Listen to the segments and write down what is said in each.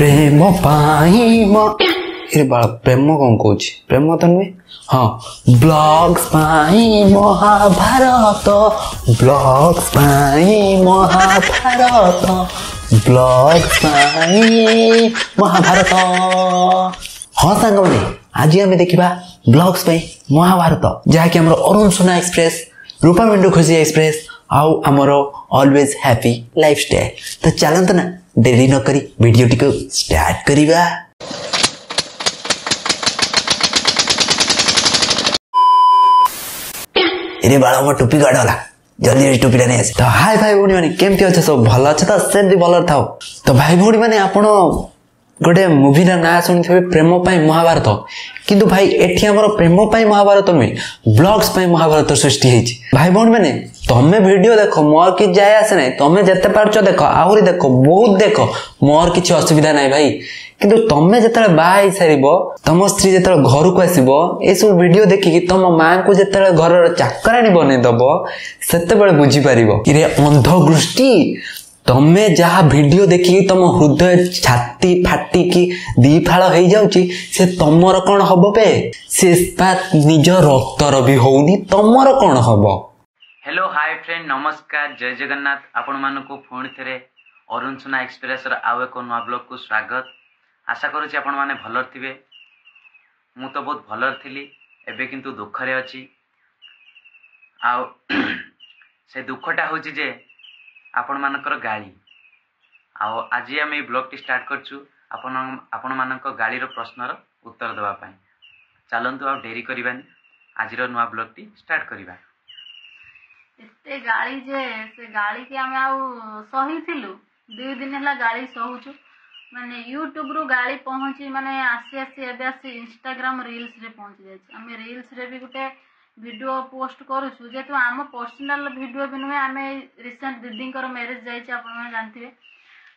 ପ୍ରେମ ପାଇଁ ଏ ବାଳ ପ୍ରେମ କ'ଣ କହୁଛି, ପ୍ରେମ ତ ନୁହେଁ, ହଁ ବ୍ଲଗ୍ସ ପାଇଁ ମହାଭାରତ, ବ୍ଲଗ୍ସ ପାଇଁ ମହାଭାରତ, ବ୍ଲଗ୍ସ ପାଇଁ ମହାଭାରତ। ହଁ ସାଙ୍ଗମାନେ, ଆଜି ଆମେ ଦେଖିବା ବ୍ଲଗ୍ସ ପାଇଁ ମହାଭାରତ, ଯାହାକି ଆମର ଅରୁଣ ସୁନା ଏକ୍ସପ୍ରେସ, ରୂପା ମିଣ୍ଡୁ ଖୁସି ଏକ୍ସପ୍ରେସ ଆଉ ଆମର ଅଲୱେଜ୍ ହ୍ୟାପି ଲାଇଫଷ୍ଟାଇଲ୍। ତ ଚାଲନ୍ତୁ ନା ଡେରି ନ କରି ଭିଡ଼ିଓଟିକୁ ଷ୍ଟାର୍ଟ କରିବା। ଏରେ ବାଳ, ମୋ ଟୋପି କୁଆଡ଼େ ଗଲା? ଜଲ୍ଦି ଜଲ୍ଦି ଟୋପିଟା ନେଇ ଆସେ। ତ ହାଇ ଭାଇ ଭଉଣୀ ମାନେ, କେମିତି ଅଛ? ସବୁ ଭଲ ଅଛ ତ? ସେମିତି ଭଲରେ ଥାଅ। ତ ଭାଇ ଭଉଣୀ ମାନେ, ଆପଣ ଗୋଟେ ମୁଭିର ନାଁ ଶୁଣିଥିବେ, ପ୍ରେମ ପାଇଁ ମହାଭାରତ। କିନ୍ତୁ ଭାଇ ଏଠି ଆମର ପ୍ରେମ ପାଇଁ ମହାଭାରତ ନୁହେଁ, ବ୍ଲଗ୍ସ ପାଇଁ ମହାଭାରତ ସୃଷ୍ଟି ହେଇଛି। ଭାଇ ଭଉଣୀ ମାନେ, ତମେ ଭିଡ଼ିଓ ଦେଖ, ମୋର କିଛି ଯାଏ ଆସେ ନାହିଁ। ତମେ ଯେତେ ପାରୁଛ ଦେଖ, ଆହୁରି ଦେଖ, ବହୁତ ଦେଖ, ମୋର କିଛି ଅସୁବିଧା ନାହିଁ ଭାଇ। କିନ୍ତୁ ତମେ ଯେତେବେଳେ ବାହା ହେଇସାରିବ, ତମ ସ୍ତ୍ରୀ ଯେତେବେଳେ ଘରକୁ ଆସିବ, ଏସବୁ ଭିଡ଼ିଓ ଦେଖିକି ତମ ମାଆଙ୍କୁ ଯେତେବେଳେ ଘରର ଚାକରାଣୀ ବନେଇଦବ, ସେତେବେଳେ ବୁଝିପାରିବ। ଇରେ ଅନ୍ଧଗୃଷ୍ଟି, ତମେ ଯାହା ଭିଡ଼ିଓ ଦେଖିକି ତମ ହୃଦୟ ଛାତି ଫାଟିକି ଦି ଫାଳ ହେଇଯାଉଛି, ସେ ତମର କ'ଣ ହବ ବେ? ସେ ନିଜ ରକ୍ତର ବି ହଉନି, ତମର କ'ଣ ହବ? ହ୍ୟାଲୋ ହାଇ ଫ୍ରେଣ୍ଡ, ନମସ୍କାର, ଜୟ ଜଗନ୍ନାଥ। ଆପଣମାନଙ୍କୁ ପୁଣି ଥରେ ଅରୁଣ ସୁନା ଏକ୍ସପ୍ରେସର ଆଉ ଏକ ନୂଆ ବ୍ଲଗ୍କୁ ସ୍ୱାଗତ। ଆଶା କରୁଛି ଆପଣମାନେ ଭଲରେ ଥିବେ। ମୁଁ ତ ବହୁତ ଭଲରେ ଥିଲି, ଏବେ କିନ୍ତୁ ଦୁଃଖରେ ଅଛି। ଆଉ ସେ ଦୁଃଖଟା ହେଉଛି ଯେ ଆପଣମାନଙ୍କର ଗାଳି। ଆଉ ଆଜି ଆମେ ଏଇ ବ୍ଲଗ୍ଟି ଷ୍ଟାର୍ଟ କରିଛୁ ଆପଣ ଆପଣମାନଙ୍କ ଗାଳିର ପ୍ରଶ୍ନର ଉତ୍ତର ଦେବା ପାଇଁ। ଚାଲନ୍ତୁ ଆଉ ଡେରି କରିବାନି, ଆଜିର ନୂଆ ବ୍ଲଗ୍ଟି ଷ୍ଟାର୍ଟ କରିବା। ଏତେ ଗାଳି ଯେ ସେ ଗାଳିକି ଆମେ ଆଉ ସହିଥିଲୁ? 2 ଦିନ ହେଲା ଗାଳି ସହୁଛୁ। ମାନେ ୟୁଟ୍ୟୁବରୁ ଗାଳି ପହଞ୍ଚି ମାନେ ଆସି ଆସି ଏବେ ଆସି ଇନଷ୍ଟାଗ୍ରାମ ରିଲ୍ସରେ ପହଞ୍ଚି ଯାଇଛି। ଆମେ ରିଲ୍ସରେ ବି ଗୋଟେ ଭିଡ଼ିଓ ପୋଷ୍ଟ କରୁଛୁ, ଯେହେତୁ ଆମ ପର୍ସନାଲ ଭିଡ଼ିଓ ବି ନୁହେଁ। ଆମେ ରିସେଣ୍ଟ ଦିଦିଙ୍କର ମ୍ୟାରେଜ ଯାଇଛି, ଆପଣମାନେ ଜାଣିଥିବେ,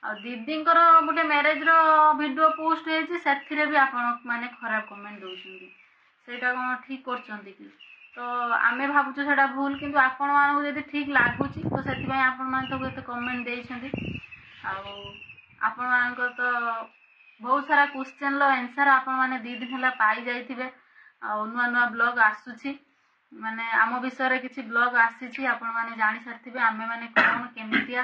ଆଉ ଦିଦିଙ୍କର ଗୋଟେ ମ୍ୟାରେଜର ଭିଡ଼ିଓ ପୋଷ୍ଟ ହେଇଛି, ସେଥିରେ ବି ଆପଣ ମାନେ ଖରାପ କମେଣ୍ଟ ଦେଉଛନ୍ତି। ସେଇଟା କ'ଣ ଠିକ୍ କରୁଛନ୍ତି କି? ତ ଆମେ ଭାବୁଛୁ ସେଇଟା ଭୁଲ, କିନ୍ତୁ ଆପଣମାନଙ୍କୁ ଯଦି ଠିକ୍ ଲାଗୁଛି ତ ସେଥିପାଇଁ ଆପଣମାନେ ତାକୁ ଏତେ କମେଣ୍ଟ ଦେଇଛନ୍ତି। ଆଉ ଆପଣମାନଙ୍କର ତ ବହୁତ ସାରା କ୍ୱେଶ୍ଚନର ଆନ୍ସର ଆପଣମାନେ 2 ଦିନ ହେଲା ପାଇଯାଇଥିବେ। ଆଉ ନୂଆ ନୂଆ ବ୍ଲଗ୍ ଆସୁଛି, ମାନେ ଆମ ବିଷୟରେ କିଛି ବ୍ଲଗ୍ ଆସିଛି, ଆପଣମାନେ ଜାଣିସାରିଥିବେ ଆମେମାନେ କ'ଣ କେମିତିଆ।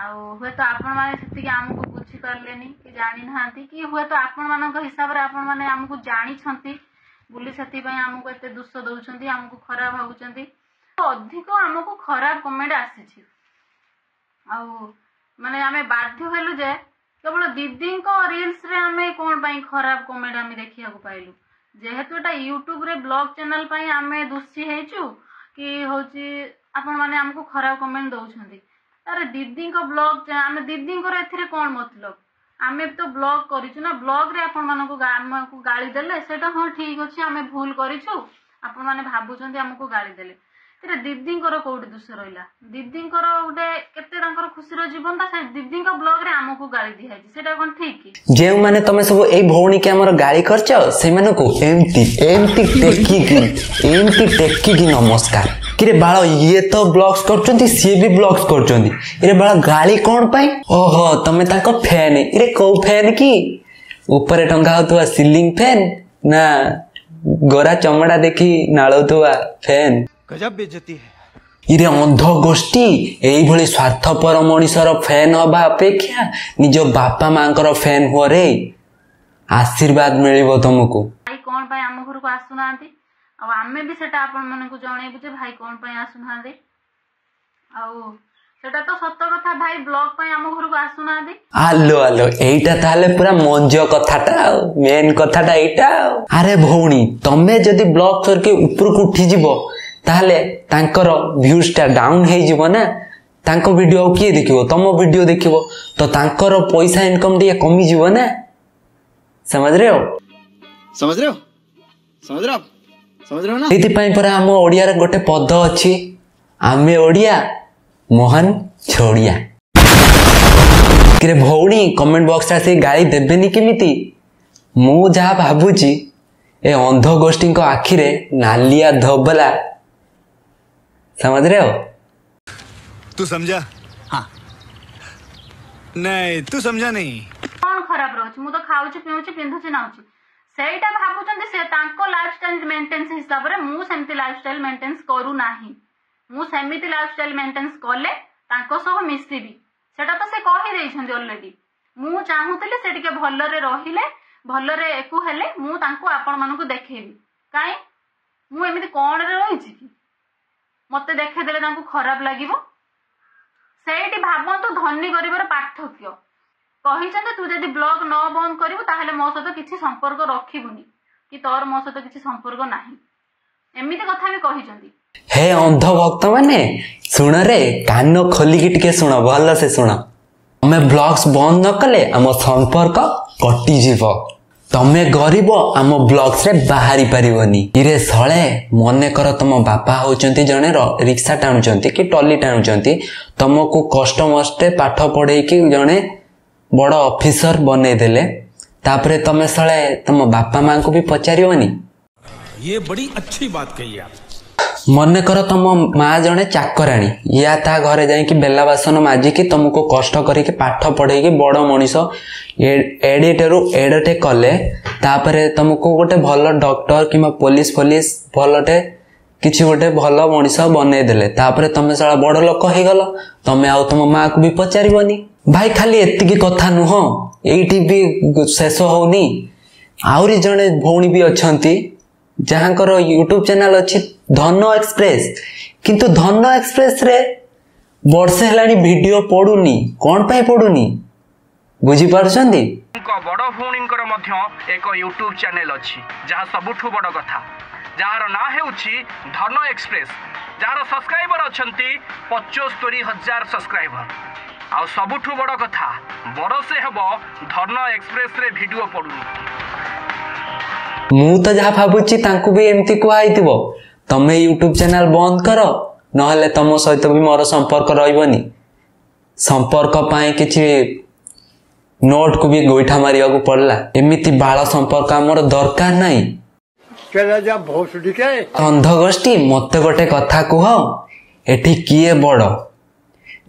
ଆଉ ହୁଏତ ଆପଣମାନେ ସେତିକି ଆମକୁ ବୁଝିପାରିଲେନି କି ଜାଣିନାହାନ୍ତି, କି ହୁଏତ ଆପଣମାନଙ୍କ ହିସାବରେ ଆପଣମାନେ ଆମକୁ ଜାଣିଛନ୍ତି ବୋଲି ସେଥିପାଇଁ ଆମକୁ ଏତେ ଦୋଷ ଦେଉଛନ୍ତି, ଆମକୁ ଖରାପ ଭାବୁଛନ୍ତି। ଅଧିକ ଆମକୁ ଖରାପ କମେଣ୍ଟ ଆସିଛି। ଆଉ ମାନେ ଆମେ ବାଧ୍ୟ ହେଲୁ ଯେ କେବଳ ଦିଦିଙ୍କ ରିଲ୍ସରେ ଆମେ କ'ଣ ପାଇଁ ଖରାପ କମେଣ୍ଟ ଆମେ ଦେଖିବାକୁ ପାଇଲୁ। ଯେହେତୁ ଏଟା ୟୁଟ୍ୟୁବରେ ବ୍ଲଗ୍ ଚ୍ୟାନେଲ ପାଇଁ ଆମେ ଦୋଷୀ ହେଇଛୁ କି ହେଉଛି ଆପଣମାନେ ଆମକୁ ଖରାପ କମେଣ୍ଟ ଦେଉଛନ୍ତି। ଆରେ ଦିଦିଙ୍କ ବ୍ଲଗ୍, ଆମେ ଦିଦିଙ୍କର ଏଥିରେ କ'ଣ ମତଲବ? ଆମେ ତ ବ୍ଲଗ୍ କରିଛୁ ନା, ବ୍ଲଗ୍ରେ ଆପଣମାନଙ୍କୁ ଆମକୁ ଗାଳି ଦେଲେ ସେଇଟା ହଁ ଠିକ୍ ଅଛି, ଆମେ ଭୁଲ କରିଛୁ, ଆପଣମାନେ ଭାବୁଛନ୍ତି ଆମକୁ ଗାଳି ଦେଲେ। ଏଥିରେ ଦିଦିଙ୍କର କୋଉଠି ଦୋଷ ରହିଲା? ଦିଦିଙ୍କର ଗୋଟେ କେତେ ତାଙ୍କର ଖୁସିର ଜୀବନଟା, ସେ ଦିଦିଙ୍କ ବ୍ଲଗ୍ରେ ଆମକୁ ଗାଳି ଦିଆହେଇଛି, ସେଇଟା କ'ଣ ଠିକ୍ କି? ଯେଉଁମାନେ ତମେ ସବୁ ଏଇ ଭଉଣୀକି ଆମର ଗାଳି କରିଛ, ସେମାନଙ୍କୁ ଏମିତି ଏମିତି ଟେକିକି ଏମିତି ଟେକିକି ନମସ୍କାର। କିରେ ବାଳ, ଇଏ ତ ବ୍ଲଗ୍ସ କରୁଛନ୍ତି, ସିଏ ବି ବ୍ଲଗ୍ସ କରୁଛନ୍ତି, ଇରେ ବାଳ ଗାଳି କ'ଣ ପାଇଁ? ଓହୋ, ତମେ ତାଙ୍କ ଫ୍ୟାନ୍। ଇରେ କୋଉ ଫ୍ୟାନ୍ କି? ଉପରେ ଟଙ୍ଗା ହଉଥିବା ସିଲିଂ ଫ୍ୟାନ୍ ନା ଗୋରା ଚମଡ଼ା ଦେଖି ନାଳଉଥିବା ଫ୍ୟାନ୍? ଗଜବ ବେଇଜ୍ଜତି ହେ। ଇରେ ଅନ୍ଧ ଗୋଷ୍ଠୀ, ଏଇଭଳି ସ୍ୱାର୍ଥପର ମଣିଷର ଫ୍ୟାନ୍ ହବା ଅପେକ୍ଷା ନିଜ ବାପା ମାଙ୍କର ଫ୍ୟାନ୍ ହୁଅରେ, ଆଶୀର୍ବାଦ ମିଳିବ ତମକୁ। ଭାଇ କ'ଣ ପାଇଁ ଆମ ଘରକୁ ଆସୁନାହାନ୍ତି? ଆଉ ଆମେ ବି ସେଟା ଆପଣମାନଙ୍କୁ ଜଣେଇବୁ ଯେ ଭାଇ କ'ଣ ପାଇଁ ଆସୁନାହାନ୍ତି। ଆଉ ସେଟା ତ ସତ କଥା, ଭାଇ ବ୍ଲଗ୍ ପାଇଁ ଆମ ଘରକୁ ଆସୁନାହାନ୍ତି। ଆଲୋ ଆଲୋ, ଏଇଟା ତାହେଲେ ପୁରା ମଞ୍ଜ କଥାଟା, ଆଉ ମେନ୍ କଥାଟା ଏଇଟା। ଆଉ ଆରେ ଭଉଣୀ, ତମେ ଯଦି ବ୍ଲଗ୍ କରିକି ଉପରକୁ ଉଠିଯିବ ତାହେଲେ ତାଙ୍କର ଭ୍ୟୁଜଟା ଡାଉନ୍ ହେଇଯିବ ନା? ତାଙ୍କ ଭିଡ଼ିଓ ଆଉ କିଏ ଦେଖିବ? ତମ ଭିଡ଼ିଓ ଦେଖିବ, ତ ତାଙ୍କର ପଇସା ଇନକମ୍ ଟିକେ କମିଯିବ ନା? ସମଝ ରେ ହୋ? ସମଝ ରେ ହୋ? ସମଝ ରେ ହୋ? ସମଝ ରେ ହୋ ନା? ଏଇଥିପାଇଁ ପରା ଆମ ଓଡ଼ିଆର ଗୋଟେ ପଦ ଅଛି, ଆମେ ଓଡ଼ିଆ ମହାନ ଛୋଡ଼ିଆ। କିରେ ଭଉଣୀ, କମେଣ୍ଟ ବକ୍ସରେ ଆସିକି ଗାଳି ଦେବେନି କେମିତି? ମୁଁ ଯାହା ଭାବୁଛି, ଏ ଅନ୍ଧ ଗୋଷ୍ଠୀଙ୍କ ଆଖିରେ ନାଲିଆ ଧୋବଲା। समझ रहे हो? तू समझा? हाँ। नहीं, तू समझा नहीं। କଣ ଖରାପ ରହୁଛି? ମୁଁ ତ ଖାଉଛି, ପିଉଛି, ପିନ୍ଧୁଛି, ନାଉଛି। ସେଇଟା ଭାବୁଛନ୍ତି ସେ ତାଙ୍କ ଲାଇଫଷ୍ଟାଇଲ ମେଣ୍ଟେନ୍ସ ହିସାବରେ। ମୁଁ ସେମିତି ଲାଇଫଷ୍ଟାଇଲ ମେଣ୍ଟେନ୍ସ କରୁନାହିଁ। ମୁଁ ସେମିତି ଲାଇଫଷ୍ଟାଇଲ ମେଣ୍ଟେନ୍ସ କଲେ ତାଙ୍କ ସହ ମିଶିବି, ସେଟା ତ ସେ କହିଦେଇଛନ୍ତି ଅଲରେଡି। ମୁଁ ଚାହୁଁଥିଲି ସେ ଟିକେ ଭଲରେ ରହିଲେ, ଭଲରେ ଏକୁ ହେଲେ ମୁଁ ତାଙ୍କୁ ଆପଣମାନଙ୍କୁ ଦେଖେଇବି। କାଇଁ, ମୁଁ ଏମିତି କଣରେ ରହିଛି କି ମତେ ଦେଖେଇଦେଲେ ତାଙ୍କୁ ଖରାପ ଲାଗିବ? ସେଇଠି ଭାବନ୍ତୁ ଧନୀ ଗରିବର ପାର୍ଥକ୍ୟ। କହିଛନ୍ତି, ତୁ ଯଦି ବ୍ଲଗ ନ ବନ୍ଦ କରିବୁ ତାହେଲେ ମୋ ସହିତ କିଛି ସମ୍ପର୍କ ରଖିବୁନି କି ତୋର ମୋ ସହିତ କିଛି ସମ୍ପର୍କ ନାହିଁ, ଏମିତି କଥା ବି କହିଛନ୍ତି। ହେ ଅନ୍ଧ ଭକ୍ତ ମାନେ, ଶୁଣରେ, କାନ ଖୋଲିକି ଟିକେ ଶୁଣ, ଭଲସେ ଶୁଣ। ତମେ ବ୍ଲଗ୍ସ ବନ୍ଦ ନ କଲେ ଆମ ସମ୍ପର୍କ କଟିଯିବ। ତମେ ଗରିବ, ଆମ ବ୍ଲଗ୍ସରେ ବାହାରି ପାରିବନି। ଇରେ ଶଳେ, ମନେକର ତମ ବାପା ହଉଛନ୍ତି ଜଣେ ରିକ୍ସା ଟାଣୁଛନ୍ତି କି ଟଲି ଟାଣୁଛନ୍ତି। ତମକୁ କଷ୍ଟ ମଷ୍ଟେ ପାଠ ପଢେଇକି ଜଣେ ବଡ଼ ଅଫିସର ବନେଇଦେଲେ। ତାପରେ ତମେ ଶଳେ ତମ ବାପା ମାଙ୍କୁ ବି ପଚାରିବନି? ये बड़ी अच्छी बात कही आप। ମନେକର ତମ ମା ଜଣେ ଚାକରାଣୀ, ୟା ତା ଘରେ ଯାଇକି ବେଲା ବାସନ ମାଜିକି ତମକୁ କଷ୍ଟ କରିକି ପାଠ ପଢେଇକି ବଡ଼ ମଣିଷ ଏଡିଟରୁ ଏଡଟେ କଲେ। ତାପରେ ତମକୁ ଗୋଟେ ଭଲ ଡକ୍ଟର କିମ୍ବା ପୋଲିସ ଫୋଲିସ ଭଲଟେ କିଛି ଗୋଟେ ଭଲ ମଣିଷ ବନେଇଦେଲେ। ତାପରେ ତମେ ଶଳା ବଡ଼ ଲୋକ ହେଇଗଲ, ତମେ ଆଉ ତମ ମାକୁ ବି ପଚାରିବନି? ଭାଇ, ଖାଲି ଏତିକି କଥା ନୁହଁ, ଏଇଠି ବି ଶେଷ ହଉନି। ଆହୁରି ଜଣେ ଭଉଣୀ ବି ଅଛନ୍ତି ଯାହାଙ୍କର ୟୁଟ୍ୟୁବ ଚ୍ୟାନେଲ ଅଛି ଧନ ଏକ୍ସପ୍ରେସ। କିନ୍ତୁ ଧନ ଏକ୍ସପ୍ରେସରେ ବର୍ଷେ ହେଲାଣି ଭିଡିଓ ପଡୁନି। କଣ ପାଇଁ ପଡୁନି, ବୁଝିପାରୁଛନ୍ତି? ବଡ଼ ଭଉଣୀଙ୍କର ମଧ୍ୟ ଏକ ୟୁଟ୍ୟୁବ ଚ୍ୟାନେଲ ଅଛି, ଯାହା ସବୁଠୁ ବଡ଼ କଥା, ଯାହାର ନାଁ ହେଉଛି ଧନ ଏକ୍ସପ୍ରେସ, ଯାହାର ସବସ୍କ୍ରାଇବର ଅଛନ୍ତି 75,000 ସବସ୍କ୍ରାଇବର। ଆଉ ସବୁଠୁ ବଡ଼ କଥା, ବରଷେ ହେବ ଧନ ଏକ୍ସପ୍ରେସରେ ଭିଡିଓ ପଡୁନି। ମୁଁ ତ ଯାହା ଭାବୁଛି, ତାଙ୍କୁ ବି ଏମିତି କୁହା ହେଇଥିବ, ତମେ ୟୁଟ୍ୟୁବ ଚ୍ୟାନେଲ ବନ୍ଦ କର, ନହେଲେ ତମ ସହିତ ବି ମୋର ସମ୍ପର୍କ ରହିବନି। ସମ୍ପର୍କ ପାଇଁ କିଛି ନୋଟକୁ ବି ଗୋଇଠା ମାରିବାକୁ ପଡିଲା। ଏମିତି ବାଳ ସମ୍ପର୍କ ଆମର ଦରକାର ନାହିଁ। ଅନ୍ଧଗୋଷ୍ଠୀ, ମତେ ଗୋଟେ କଥା କୁହ, ଏଠି କିଏ ବଡ?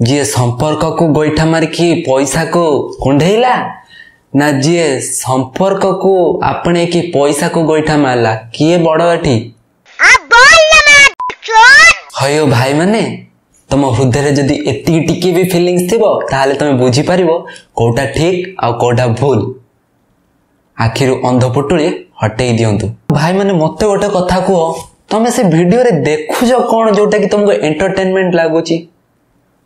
ଯିଏ ସମ୍ପର୍କକୁ ଗୋଇଠା ମାରିକି ପଇସାକୁ କୁଣ୍ଢେଇଲା ନା ଯିଏ ସମ୍ପର୍କକୁ ଆପଣେଇକି ପଇସାକୁ ଗୋଇଠା ମାରିଲା? କିଏ ବଡ ଏଠି? ହଇଓ ଭାଇମାନେ, ତମ ହୃଦୟରେ ଯଦି ଏତିକି ଟିକେ ବି ଫିଲିଙ୍ଗସ୍ ଥିବ, ତାହେଲେ ତମେ ବୁଝିପାରିବ କୋଉଟା ଠିକ ଆଉ କୋଉଟା ଭୁଲ। ଆଖିରୁ ଅନ୍ଧ ପୁଟୁଳି ହଟେଇ ଦିଅନ୍ତୁ। ଭାଇମାନେ, ମତେ ଗୋଟେ କଥା କୁହ, ତମେ ସେ ଭିଡିଓରେ ଦେଖୁଛ କଣ ଯୋଉଟା କି ତମକୁ ଏଣ୍ଟରଟେନମେଣ୍ଟ ଲାଗୁଛି?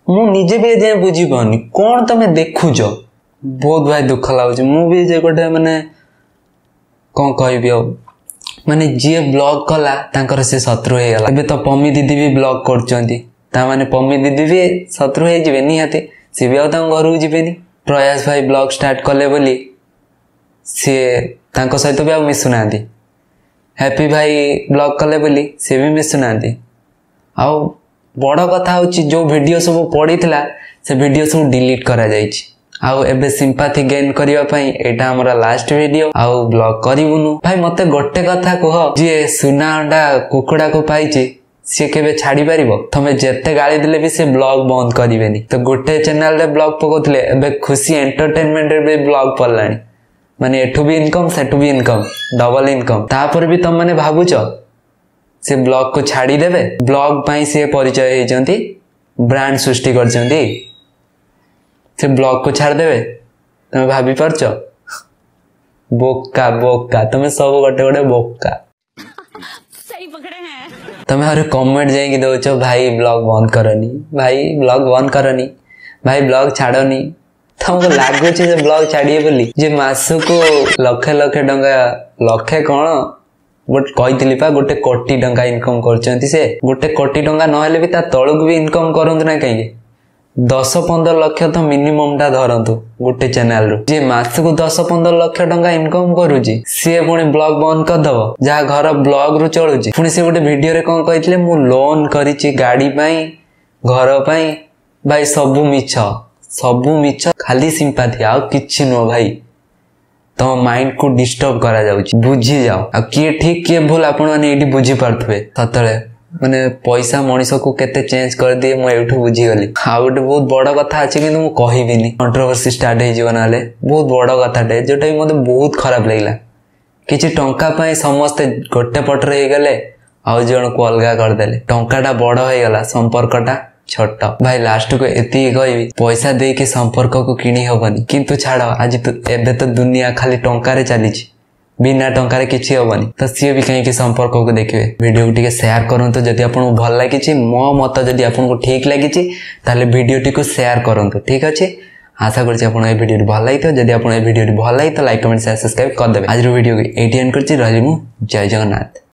ମୁଁ ନିଜେ ବି ଏଯାଏଁ ବୁଝିପାରୁନି କଣ ତମେ ଦେଖୁଛ। ବହୁତ ଭାଇ ଦୁଃଖ ଲାଗୁଛି। ମୁଁ ବି ଯେ ଗୋଟେ ମାନେ କଣ କହିବି ଆଉ, ମାନେ ଯିଏ ବ୍ଲଗ କଲା ତାଙ୍କର ସେ ଶତ୍ରୁ ହେଇଗଲା। ଏବେ ତ ପମି ଦିଦି ବି ବ୍ଲଗ କରୁଛନ୍ତି, ତା ମାନେ ପମି ଦିଦି ବି ଶତ୍ରୁ ହେଇଯିବେ ନିହାତି। ସିଏ ବି ଆଉ ତାଙ୍କ ଘରକୁ ଯିବେନି। ପ୍ରୟାସ ଭାଇ ବ୍ଲଗ ଷ୍ଟାର୍ଟ କଲେ ବୋଲି ସିଏ ତାଙ୍କ ସହିତ ବି ଆଉ ମିଶୁନାହାନ୍ତି। ହ୍ୟାପି ଭାଇ ବ୍ଲଗ କଲେ ବୋଲି ସିଏ ବି ମିଶୁନାହାନ୍ତି। ଆଉ ବଡ଼ କଥା ହେଉଛି, ଯେଉଁ ଭିଡ଼ିଓ ସବୁ ପଡ଼ିଥିଲା ସେ ଭିଡ଼ିଓ ସବୁ ଡିଲିଟ୍ କରାଯାଇଛି। ଆଉ ଏବେ ସିମ୍ପାଥି ଗେନ୍ କରିବା ପାଇଁ ଏଇଟା ଆମର ଲାଷ୍ଟ ଭିଡ଼ିଓ, ଆଉ ବ୍ଲଗ କରିବୁନୁ। ଭାଇ, ମତେ ଗୋଟେ କଥା କୁହ, ଯିଏ ସୁନା ଅଣ୍ଡା କୁକୁଡ଼ାକୁ ପାଇଛି ସିଏ କେବେ ଛାଡି ପାରିବ? ତମେ ଯେତେ ଗାଳି ଦେଲେ ବି ସେ ବ୍ଲଗ ବନ୍ଦ କରିବେନି। ତ ଗୋଟେ ଚ୍ୟାନେଲରେ ବ୍ଲଗ ପକଉଥିଲେ, ଏବେ ଖୁସି ଏଣ୍ଟରଟେନମେଣ୍ଟରେ ବି ବ୍ଲଗ ପଡ଼ିଲାଣି। ମାନେ ଏଠୁ ବି ଇନକମ୍, ସେଠୁ ବି ଇନକମ୍, ଡବଲ ଇନକମ୍। ତାପରେ ବି ତମମାନେ ଭାବୁଛ ସେ ବ୍ଲଗକୁ ଛାଡ଼ିଦେବେ? ବ୍ଲଗ ପାଇଁ ସିଏ ପରିଚୟ ହେଇଛନ୍ତି, ବ୍ରାଣ୍ଡ ସୃଷ୍ଟି କରିଛନ୍ତି। ସେ ବ୍ଲଗକୁ ଛାଡ଼ିଦେବେ, ତମେ ଭାବି ପାରୁଛ? ବୋକା ବୋକା, ତମେ ସବୁ ଗୋଟେ ଗୋଟେ ବୋକା। ତମେ ଆହୁରି କମେଣ୍ଟ ଯାଇକି ଦଉଛ, ଭାଇ ବ୍ଲଗ ବନ୍ଦ କରନି, ଭାଇ ବ୍ଲଗ ବନ୍ଦ କରନି, ଭାଇ ବ୍ଲଗ ଛାଡ଼ନି। ତମକୁ ଲାଗୁଛି ଯେ ବ୍ଲଗ ଛାଡ଼ିବେ ବୋଲି? ଯେ ମାସକୁ ଲକ୍ଷେ ଲକ୍ଷେ ଟଙ୍କା, ଲକ୍ଷେ କଣ, ଗୋଟେ କହିଥିଲି ପା, 1 କୋଟି ଟଙ୍କା ଇନକମ୍ କରୁଛନ୍ତି ସେ। 1 କୋଟି ଟଙ୍କା ନହେଲେ ବି ତା ତଳକୁ ବି ଇନକମ୍ କରନ୍ତୁ ନା କାହିଁକି, 10-15 ଲକ୍ଷ ତ ମିନିମମ୍ ଟା ଧରନ୍ତୁ ଗୋଟେ ଚ୍ୟାନେଲରୁ। ଯିଏ ମାସକୁ 10-15 ଲକ୍ଷ ଟଙ୍କା ଇନକମ୍ କରୁଛି, ସିଏ ପୁଣି ବ୍ଲଗ ବନ୍ଦ କରିଦବ, ଯାହା ଘର ବ୍ଲଗ ରୁ ଚଳୁଛି? ପୁଣି ସେ ଗୋଟେ ଭିଡିଓରେ କଣ କହିଥିଲେ, ମୁଁ ଲୋନ କରିଛି ଗାଡି ପାଇଁ, ଘର ପାଇଁ। ଭାଇ, ସବୁ ମିଛ, ସବୁ ମିଛ, ଖାଲି ସିମ୍ପାଥି, ଆଉ କିଛି ନୁହଁ। ଭାଇ, ତମ ମାଇଣ୍ଡ କୁ ଡିଷ୍ଟର୍ବ କରାଯାଉଛି, ବୁଝିଯାଅ। ଆଉ କିଏ ଠିକ କିଏ ଭୁଲ ଆପଣମାନେ ଏଇଠି ବୁଝିପାରୁଥିବେ। ସତରେ ମାନେ ପଇସା ମଣିଷକୁ କେତେ ଚେଞ୍ଜ କରିଦିଏ ମୁଁ ଏଇଠୁ ବୁଝିଗଲି। ଆଉ ଗୋଟେ ବହୁତ ବଡ଼ କଥା ଅଛି, କିନ୍ତୁ ମୁଁ କହିବିନି, କଣ୍ଟ୍ରୋଭର୍ସି ଷ୍ଟାର୍ଟ ହେଇଯିବ ନହେଲେ। ବହୁତ ବଡ଼ କଥାଟେ ଯୋଉଟା କି ମୋତେ ବହୁତ ଖରାପ ଲାଗିଲା। କିଛି ଟଙ୍କା ପାଇଁ ସମସ୍ତେ ଗୋଟେ ପଟରେ ହେଇଗଲେ, ଆଉ ଜଣକୁ ଅଲଗା କରିଦେଲେ। ଟଙ୍କାଟା ବଡ଼ ହେଇଗଲା, ସମ୍ପର୍କଟା ଛୋଟ। ଭାଇ, ଲାଷ୍ଟକୁ ଏତିକି କହିବି, ପଇସା ଦେଇକି ସମ୍ପର୍କକୁ କିଣି ହବନି। କିନ୍ତୁ ଛାଡ଼, ଆଜି ତ ଏବେ ତ ଦୁନିଆ ଖାଲି ଟଙ୍କାରେ ଚାଲିଛି, ବିନା ଟଙ୍କାରେ କିଛି ହବନି, ତ ସିଏ ବି କାହିଁକି ସମ୍ପର୍କକୁ ଦେଖିବେ? ଭିଡ଼ିଓକୁ ଟିକେ ସେୟାର କରନ୍ତୁ ଯଦି ଆପଣଙ୍କୁ ଭଲ ଲାଗିଛି। ମୋ ମତ ଯଦି ଆପଣଙ୍କୁ ଠିକ୍ ଲାଗିଛି, ତାହେଲେ ଭିଡ଼ିଓଟିକୁ ସେୟାର କରନ୍ତୁ। ଠିକ୍ ଅଛି, ଆଶା କରୁଛି ଆପଣ ଏ ଭିଡ଼ିଓଟି ଭଲ ଲାଗିଥିବ। ଯଦି ଆପଣ ଏ ଭିଡ଼ିଓଟି ଭଲ ଲାଗିଥିବ, ଲାଇକ୍, କମେଣ୍ଟ, ସେୟାର, ସବସ୍କ୍ରାଇବ୍ କରିଦେବେ। ଆଜିର ଭିଡ଼ିଓକୁ ଏଇଠି ଏଣ୍ଡ କରୁଛି। ରହିଲି ମୁଁ, ଜୟ ଜଗନ୍ନାଥ।